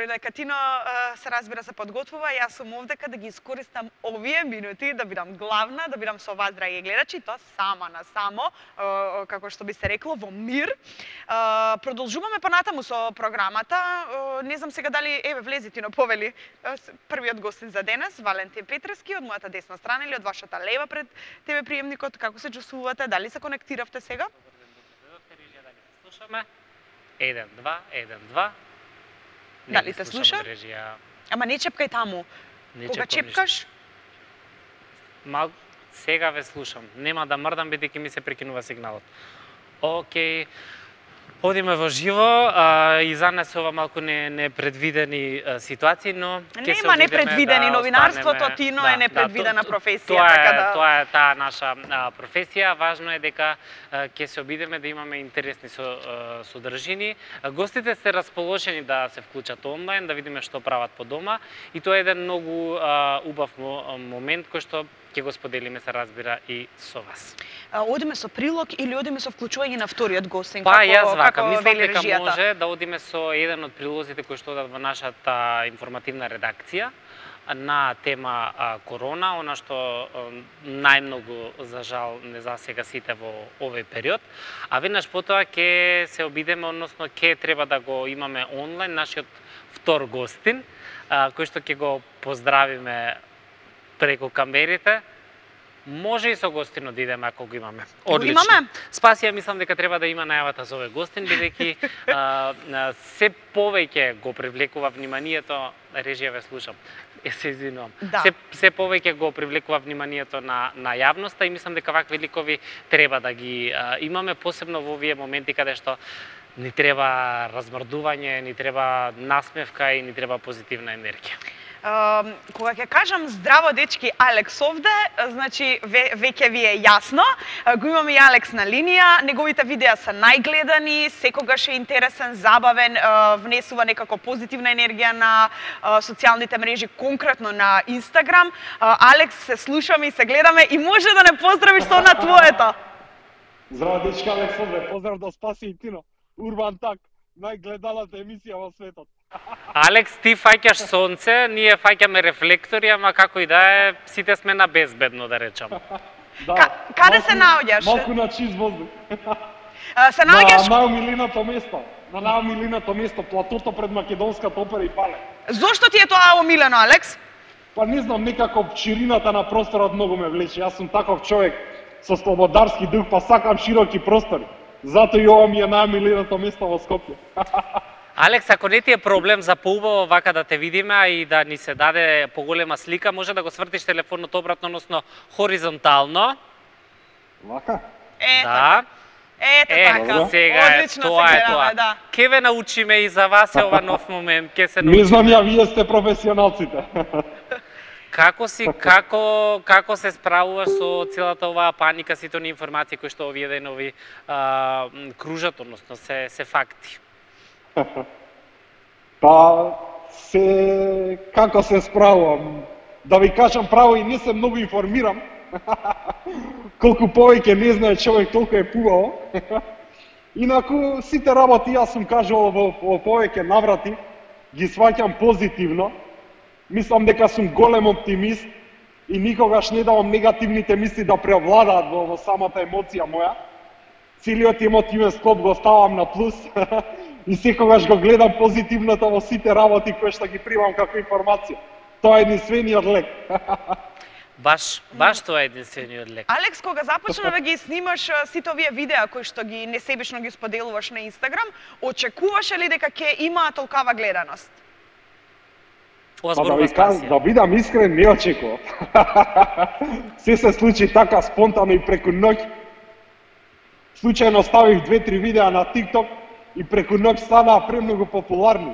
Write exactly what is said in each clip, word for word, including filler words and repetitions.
дека Тино се разбира се подготвува, јас сум овдека да ги искористам овие минути да бидам главна, да бидам со вас, драги гледачи, тоа сама на само, како што би се рекло, во мир. Продолжуваме понатаму со програмата. Не знам сега дали, еве, влези Тино, повели, првиот гостин за денес, Валентин Петрески, од мојата десна страна или од вашата лева пред тебе приемникот. Како се чувствувате? Дали се конектиравте сега? Слушаме. еден, два, еден, два. Дали те слуша? Ама не чепкај таму. Не Кога чепкаш? Мал... Сега ве слушам. Нема да мрдам, бидејќи ми се прекинува сигналот. Океј. Одиме во живо, а, и за нас ова малку не непредвидени ситуации, но ќе се нема непредвидени, да новинарството останеме... Тино да, е непредвидена да, професија, тоа така е, да тоа е таа наша а, професија. Важно е дека ќе се обидеме да имаме интересни со, а, содржини. А, гостите се расположени да се вклучат онлайн, да видиме што прават по дома, и тоа е еден многу а, убав момент кој што ќе го споделиме, се разбира, и со вас. А, одиме со прилог или одиме со вклучување на вториот гостин? Па, како, јас вака, како мислам дека режијата? може да одиме со еден од прилозите кои што одат во нашата информативна редакција на тема а, корона, она што а, најмногу, за жал, не засега сите во овој период. А веднаш потоа ќе се обидеме, односно ќе треба да го имаме онлайн нашиот втор гостин, а, кој што ќе го поздравиме преку камерите. Може и со гостин да идеме ако го имаме. Одлично. Имаме? Спасија, мислам дека треба да има најавата за овој гостин, бидејќи се повеќе го привлекува вниманието, режија ве слушам. Е, се извинувам. Да. Се, се повеќе го привлекува вниманието на на јавноста и мислам дека вакви ликови треба да ги а, имаме, посебно во овие моменти каде што ни треба размрдување, ни треба насмевка и ни треба позитивна енергија. Uh, кога ќе кажам здраво дечки Алекс овде, значи ве, веќе ви е јасно. Uh, го имаме и Алекс на линија, неговите видеа се најгледани, секогаш е интересен, забавен, uh, внесува некако позитивна енергија на uh, социјалните мрежи, конкретно на Инстаграм. Uh, Алекс, се слушаме и се гледаме и може да не поздравиш со на твоето. Здраво дечки Алекс овде, поздрав до Спаси и Тино. Урбан Так, најгледаната емисија во светот. Алекс, ти фаќаш сонце, ние фаќаме рефлектори, ама како и да е, сите сме на безбедно, да речам. Да, Ка, каде се наоѓаш? Малку на чист воздух. Се наоѓаш? На најомиленото место, на најомиленото место, платото пред Македонската опера и балет. Зошто ти е тоа омилено, Алекс? Па не знам, некако ширината на просторот многу ме влече. Јас сум таков човек со слободарски дух, па сакам широки простори. Затоа и ова ми е најомиленото место во Скопје. Алекс, ако не ти е проблем за поубаво вака да те видиме, а и да ни се даде поголема слика, може да го свртиш телефонот обратно, односно хоризонтално. Вака? Ето Да. Ето Е, така. сега е, Одлично тоа се е гледаме, тоа. да. Ке ве научиме и за вас е ова нов момент, ке се научиме. Не знам ја, вие сте професионалците. Како си, како, како се справуваш со целата оваа паника, сите оние информации кои што овие денови а, кружат, односно се, се факти? Па, се... како се справувам? Да ви кажам право, и не се многу информирам. Колку повеќе не знае човек, толку е пубаво. Инаку, сите работи, јас сум кажувал во, во повеќе наврати, ги сваќам позитивно. Мислам дека сум голем оптимист и никогаш не давам негативните мисли да преовладаат во, во самата емоција моја. Целиот емотивен склоп го ставам на плюс и секогаш го гледам позитивното во сите работи кои што ги примам како информација. Тоа е единствениот лек. Баш, баш тоа е единствениот лек. Алекс, кога започна да ги снимаш сите овие видеа кои што ги несебично ги споделуваш на Инстаграм, очекуваше ли дека ќе има толкава гледаност? Ова Па да зборува ви кажам, Спасија. да бидам искрен, не очекував. Се се случи така спонтано и преку ноќ. Случајно ставив две-три видеа на TikTok и преку ноќ станаа премногу популарни.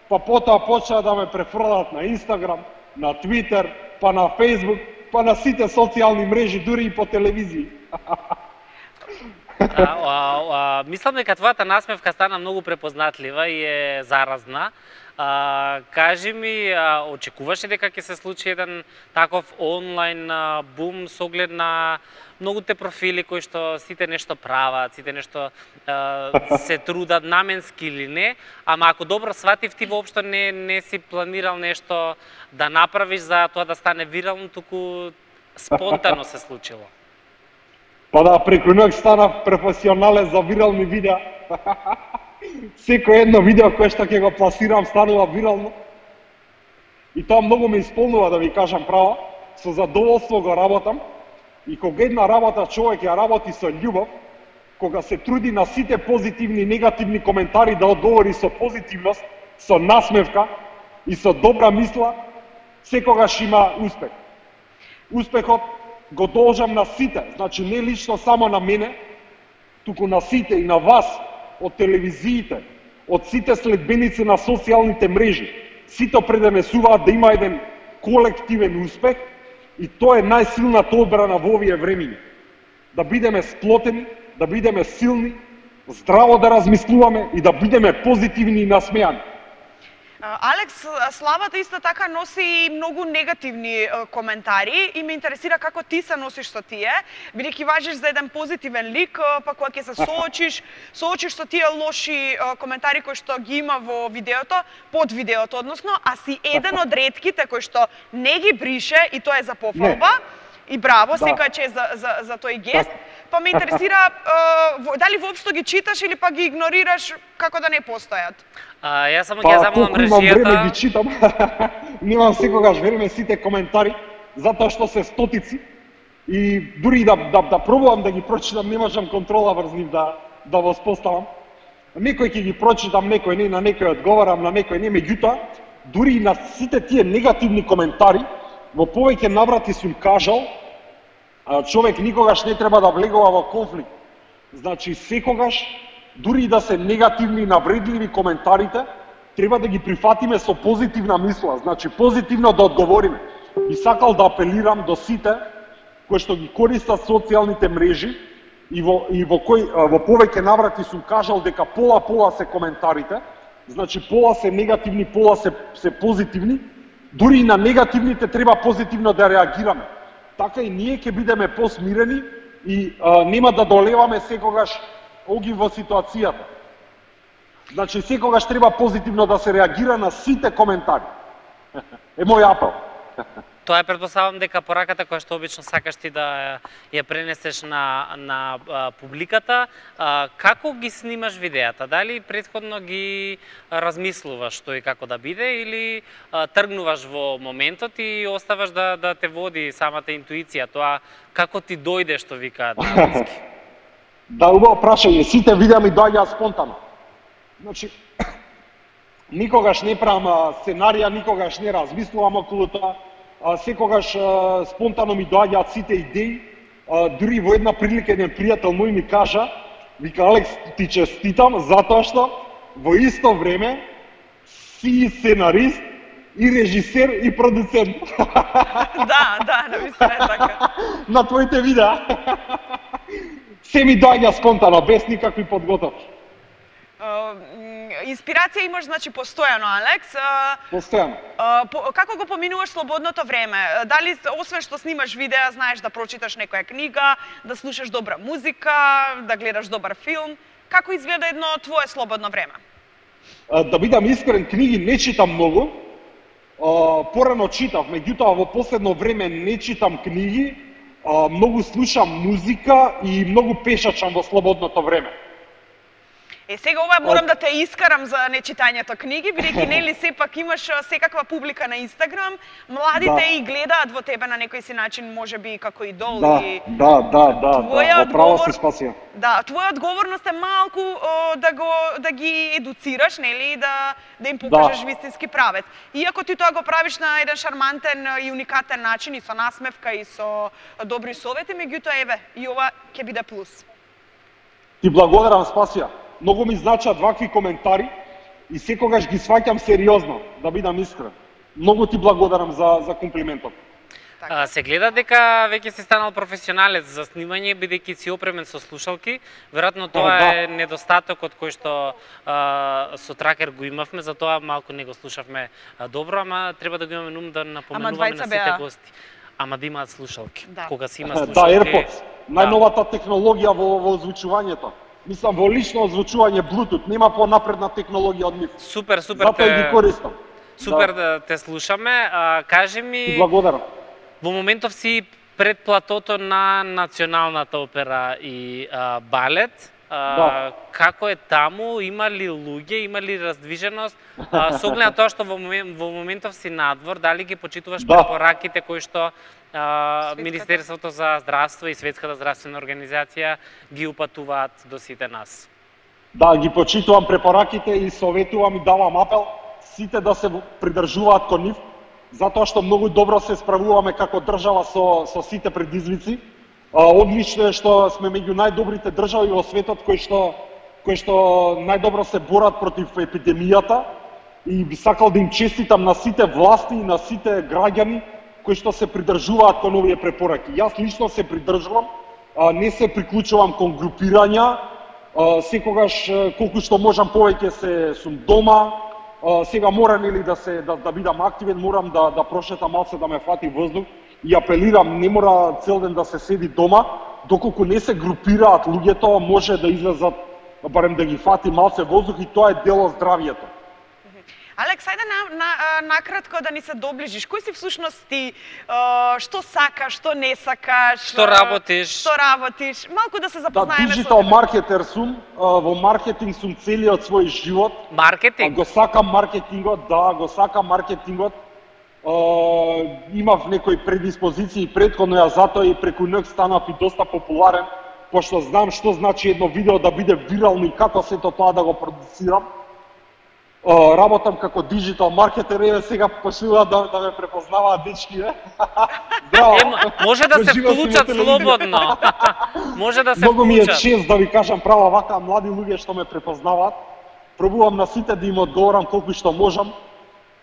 Па потоа почнаа да ме префрлат на Instagram, на Twitter, па на Facebook, па на сите социјални мрежи, дури и по телевизија. А, а, а, мислам дека твојата насмевка стана многу препознатлива и е заразна. А, кажи ми, а, очекуваш ли дека ќе се случи еден таков онлайн а, бум со оглед на многуте профили кои што сите нешто прават, сите нешто а, се трудат наменски или не, ама ако добро сватив, ти воопшто не не си планирал нешто да направиш за тоа да стане вирално, туку спонтано се случило. Па да, преку ноќ станав професионален за вирални видеа. Секој едно видео кое што ќе го пласирам станува вирално. И тоа многу ме исполнува, да ви кажам право. Со задоволство го работам. И кога една работа човек ја работи со љубов, кога се труди на сите позитивни и негативни коментари да одговори со позитивност, со насмевка и со добра мисла, секогаш има успех. Успехот го должам на сите, значи не лично само на мене, туку на сите и на вас, од телевизиите, од сите следбеници на социјалните мрежи. Сите преденесуваат да има еден колективен успех и тоа е најсилната одбрана во овие времиња. Да бидеме сплотени, да бидеме силни, здраво да размислуваме и да бидеме позитивни и насмеани. Алекс, славата исто така носи и многу негативни коментари и ме интересира како ти се носиш со тие, бидејќи важиш за еден позитивен лик, па кога ќе се соочиш, соочиш со тие лоши коментари кои што ги има во видеото, под видеото односно, а си еден од ретките кои што не ги брише и тоа е за пофалба. И браво, да. Секоја чест за, за, за тој гест. Па ме интересира е, дали воопшто ги читаш или па ги игнорираш како да не постојат? А, јас само ги па, замувам режијата. Имам време ги читам. Немам секогаш време сите коментари, затоа што се стотици. И дури да, да, да пробувам да ги прочитам, не можам контрола врз нив да, да воспоставам. Некој ќе ги прочитам, некој не, на некој одговарам, на некој не. Меѓутоа, дури и на сите тие негативни коментари, во повеќе наврати сум кажал, човек никогаш не треба да влегува во конфликт. Значи, секогаш, дури да се негативни и навредливи коментарите, треба да ги прифатиме со позитивна мисла. Значи, позитивно да одговориме. И сакал да апелирам до сите кои што ги користат социјалните мрежи и во, и во, кој, во повеќе наврати сум кажал дека пола-пола се коментарите, значи пола се негативни, пола се, се позитивни. Дури и на негативните треба позитивно да реагираме. Така и ние ќе бидеме посмирени и а, нема да долеваме секогаш оги во ситуацијата. Значи секогаш треба позитивно да се реагира на сите коментари. Е мој апел. Тоа е, претпоставам дека пораката која што обично сакаш ти да ја пренесеш на, на а, публиката. А, како ги снимаш видеата? Дали претходно ги размислуваш што и како да биде или а, тргнуваш во моментот и оставаш да, да те води самата интуиција? Тоа како ти дојде, што викаат на англиски? Да, убаво прашање. Сите видеа ми доаѓаат спонтано. Значи, никогаш не правам сценарија, никогаш не размислувам околу тоа. А, секогаш а, спонтано ми доаѓаат сите идеи. А, дури во една прилика еден пријател мој ми кажа, вика, Алекс, ти честитам затоа што во исто време си сценарист и режисер и продуцент. Да, да, навистина е така. На твоите видеа. Се ми доаѓа спонтано, без никакви подготовки. Инспирација имаш, значи, постојано, Алекс. Постојано. Како го поминуваш слободното време? Дали, освен што снимаш видеа, знаеш да прочиташ некоја книга, да слушаш добра музика, да гледаш добар филм? Како изгледа едно твое слободно време? Да бидам искрен, книги не читам многу. Порано читав, меѓутоа во последно време не читам книги, многу слушам музика и многу пешачам во слободното време. Е, сега ова морам да те искарам за нечитањето книги, бидејќи нели сепак имаш секаква публика на Инстаграм, младите да. И гледаат во тебе на некој си начин, можеби како идол. Да, и... да, да, да, да, во право си спасија. Да, твоја одговорност е малку о, да го да ги едуцираш, нели, да да им покажеш да. Вистински правец. Иако ти тоа го правиш на еден шармантен и уникатен начин и со насмевка и со добри совети, меѓутоа еве, и ова ќе биде плюс. Ти благодарам, Спасија. Многу ми значат вакви коментари и секогаш ги сваќам сериозно, да бидам искрен. Многу ти благодарам за, за комплиментот. Така. А, се гледа дека веќе си станал професионалец за снимање, бидејќи си опремен со слушалки. Веројатно тоа да. е недостатокот кој што а, со Тракер го имавме, затоа малку не го слушавме а, добро, ама треба да го имаме нум да напоменуваме на сите беа... гости. Ама да имаат слушалки. Да. Кога си има Да, слушалки... AirPods. Најновата технологија во, во озвучувањето. Мислам, во лично озвучување Bluetooth, нема понапредна технологија од нив. Супер, супер. Затоа те... ги користам. Супер да. да те слушаме. А, кажи ми... И благодарам. Во моментов си пред платото на Националната опера и а, балет. А, Да. Како е таму? Има ли луѓе? Има ли раздвиженост? А, со оглед на тоа што во, момент, во моментов си надвор, дали ги почитуваш Да. препораките кои што а, Светската. Министерството за здравство и Светската здравствена организација ги упатуваат до сите нас? Да, ги почитувам препораките и советувам и давам апел сите да се придржуваат кон нив, затоа што многу добро се справуваме како држава со, со сите предизвици. А, одлично е што сме меѓу најдобрите држави во светот кои што, кои што најдобро се борат против епидемијата и би сакал да им честитам на сите власти и на сите граѓани кои што се придржуваат кон овие препораки. Јас лично се придржувам, а, не се приклучувам кон групирања, а, секогаш колку што можам повеќе се сум дома. А, сега морам или да се да, да бидам активен, морам да да прошетам малце да ме фати воздух и апелирам, не мора цел ден да се седи дома, доколку не се групираат луѓето, може да излезат барем да ги фати малце воздух и тоа е дел од здравието. Алекс, ајде на, на, накратко да ни се доближиш. Кој си всушност ти? Што сакаш, што не сакаш? Што работиш? Што работиш? Малку да се Да, запознаеме со диджитал тебе. маркетер сум, во маркетинг сум целиот свој живот. Маркетинг? Го сакам маркетингот, да, го сакам маркетингот. Имав некои предиспозиции предходно, ја затоа и преку НЕК станав и доста популарен, пошто знам што значи едно видео да биде вирално и како сето тоа да го продуцирам. Работам како диджитал маркетер, еве сега почнуваат да, да ме препознаваат дечки, е. Здраво. Е, може да се Живеам си вклучат на телевизија. слободно. Може да се Многу ми е вклучат. чест да ви кажам права вака млади луѓе што ме препознаваат. Пробувам на сите да им одговорам колку што можам.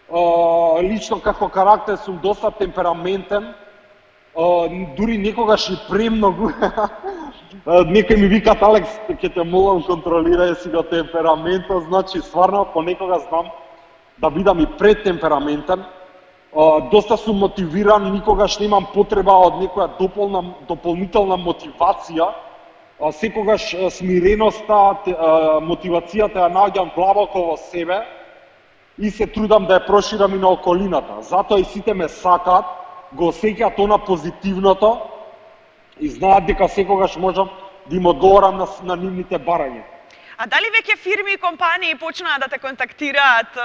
Uh, лично како карактер сум доста темпераментен, uh, дури некогаш и премногу. uh, Некој ми викат, Алекс, ќе те молам контролирај си го темпераментот, значи стварно понекога знам да бидам и претемпераментен. Uh, доста сум мотивиран, никогаш немам потреба од некоја дополна, дополнителна мотивација. Uh, секогаш uh, смиреноста, те, uh, мотивацијата ја наоѓам длабоко во себе и се трудам да ја проширам и на околината. Затоа и сите ме сакаат, го осеќаат она позитивното и знаат дека секогаш можам да им одговорам на, на нивните барања. А дали веќе фирми и компании почнаа да те контактираат е,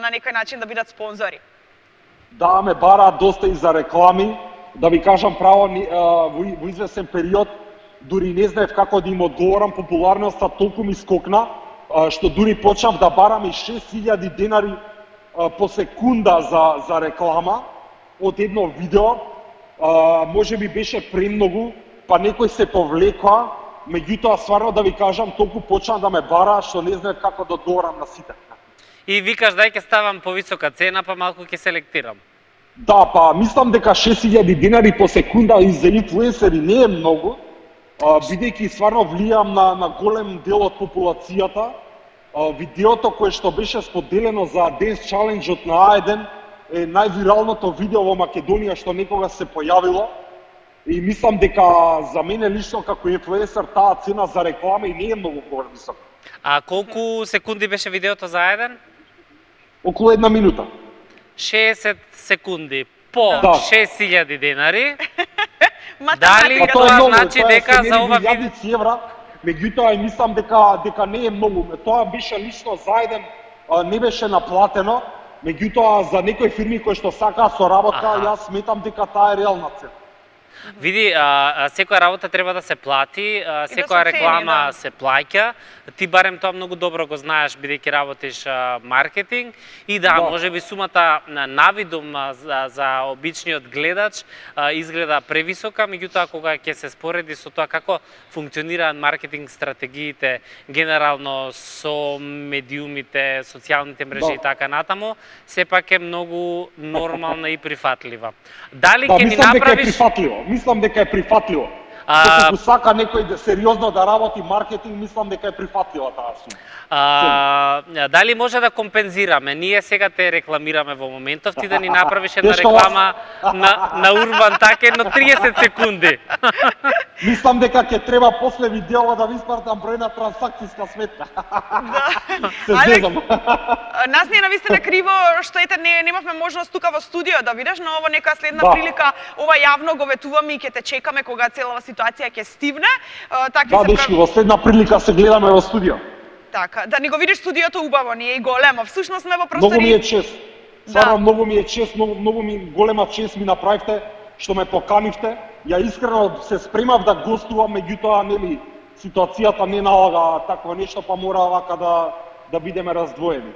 на некој начин да бидат спонзори? Да, ме бараат доста и за реклами. Да ви кажам право, ни- а, во, во известен период, дури не знаев како да им одговорам, популарноста толку ми скокна, а, што дури почнав да барам и шест илјади денари а, по секунда за, за реклама од едно видео. А, може би беше премногу, па некој се повлекоа, меѓутоа стварно да ви кажам, толку почна да ме бара што не знаев како да одговорам на сите. И викаш дај ќе ставам повисока цена, па малку ќе селектирам. Да, па мислам дека шест илјади денари по секунда и за инфлуенсери не е многу, а, бидејќи стварно влијам на, на голем дел од популацијата. А, видеото кое што беше споделено за Dance Challenge-от на А еден е највиралното видео во Македонија што некога се појавило. И мислам дека за мене лично како инфлуенсер таа цена за реклама и не е многу повисока. А колку секунди беше видеото за еден? Околу една минута. шеесет секунди по Да. шест илјади денари. Математика. Дали Па тоа тоа е многу, значи тоа дека се за мери ова во илјадици евра, меѓутоа и мислам дека дека не е многу. Тоа беше лично за еден, а, не беше наплатено, меѓутоа за некои фирми кои што сакаат соработка, Аха. јас сметам дека таа е реална цена. Види, а, а, секоја работа треба да се плати, а, се секоја цени, реклама да. се плаќа. Ти барем тоа многу добро го знаеш бидејќи работиш а, маркетинг и да, Да. можеби сумата на навидум а, за, за обичниот гледач а, изгледа превисока, меѓутоа кога ќе се спореди со тоа како функционираат маркетинг стратегиите генерално со медиумите, социјалните мрежи Да. и така натаму, сепак е многу нормална и прифатлива. Дали Да, ќе ни мислам дека е направиш прифатливо. Мислам дека е прифатливо. А- Доколку сака некој да сериозно да работи маркетинг, мислам дека е прифатлива таа сума. А, дали може да компензираме? Ние сега те рекламираме во моментов, ти да ни направиш една Дечко, реклама на, на Урбан так едно триесет секунди. Мислам дека ќе треба после видео да ви испратам бројна трансакцијска сметка. Се Алекс, зезам. Нас не е навистина криво што ете не немавме можност тука во студио да видиш, но ова некоја следна Да. прилика ова јавно го ветуваме и ќе те чекаме кога целава ситуација ќе стивне. А, Така Да, се дечки, во следна прилика се гледаме во студио. Така, да ни го видиш студиото убаво, ние и големо. Всушност сме во Многу ми е простори. чест. Да. Стварно многу ми е чест, многу, многу ми голема чест ми направивте што ме поканивте. Ја искрено се спремав да гостувам, меѓутоа нели ситуацијата не налага такво нешто, па мора вака да да бидеме раздвоени.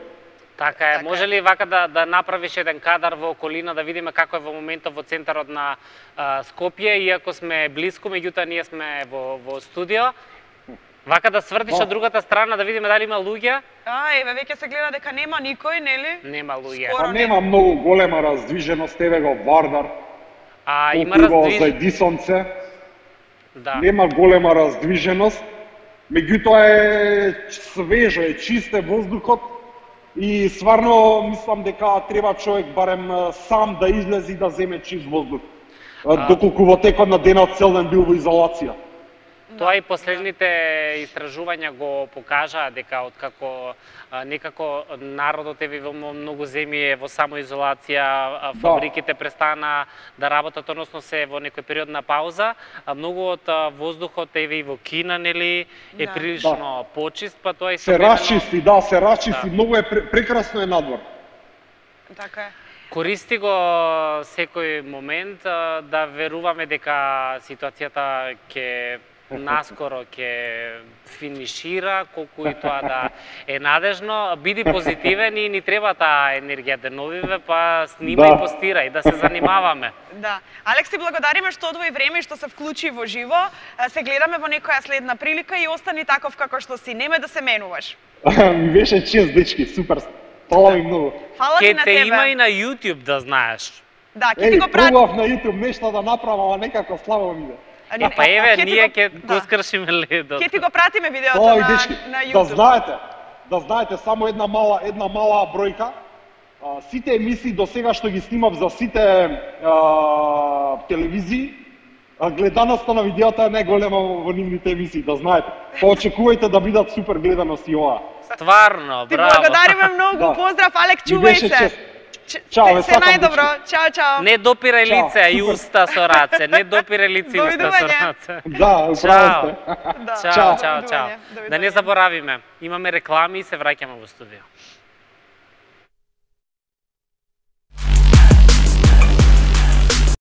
Така е. Така Може е. ли вака да, да направиш еден кадар во околина да видиме како е во моментот во центарот на а, Скопје, иако сме близко, меѓутоа ние сме во, во студио. Вака да свртиш Да. од другата страна да видиме дали има луѓе. А, еве веќе се гледа дека нема никој, нели? Нема луѓе. Скоро. Па нема многу голема раздвиженост, еве го Вардар. А има колку убаво раздвиж... за Едисонце. Да. Нема голема раздвиженост, меѓутоа е свежо, е чист е воздухот и стварно мислам дека треба човек барем а, сам да излезе и да земе чист воздух. А, Доколку во текот на денот цел ден бил во изолација. Тоа и последните истражувања го покажаа дека откако а, некако народот е во многу земји е во самоизолација, а, фабриките престана да работат, односно се во некој период на пауза, а многу од а, воздухот еве и во Кина, нели, е Да. прилично почист, па тоа и Се расчисти, да, се расчисти, Да. многу е пре- прекрасно е надвор. Така е. Користи го секој момент а, да веруваме дека ситуацијата ќе наскоро ќе финишира, колку и тоа да е надежно. Биди позитивен и ни треба таа енергија деновиве, па снима Да. и постира и да се занимаваме. Да. Алекс, ти благодариме што одвои време и што се вклучи во живо. А, Се гледаме во некоја следна прилика и остани таков како што си. Неме да се менуваш. Ми беше чест, дечки, супер. Фала ви многу. Фала ти Ке на те тебе. има и на YouTube да знаеш. Да, ќе ти Еј, го прати. пробав на YouTube нешто да направам, ама некако слабо ми иде. А, не, Па еве, ќе ти ние го- ќе да. го скршиме ледот. Ќе ти го пратиме видеото Ова и на, дечки, на да YouTube. знаете, да знаете само една мала една мала бројка. А, сите емисии до сега што ги снимав за сите а, телевизии, а, гледаноста на видеото е најголема во нивните емисии, да знаете. Па очекувајте да бидат супер гледаности и ова. Стварно, Ти браво. благодариме многу. Да. Поздрав, Алек, Ми чувај беше се. чест. Ч- Чао, се, ве се сакам, најдобро. Чао, чао. Не допирај Чао, лице, а и супер. уста со раце. Не допирај лице и уста со Довидување. раце. Да, управо Чао. сте. Да. Чао, Чао. чао, чао. Довидување, Да не довидување. заборавиме, имаме реклами и се враќаме во студио.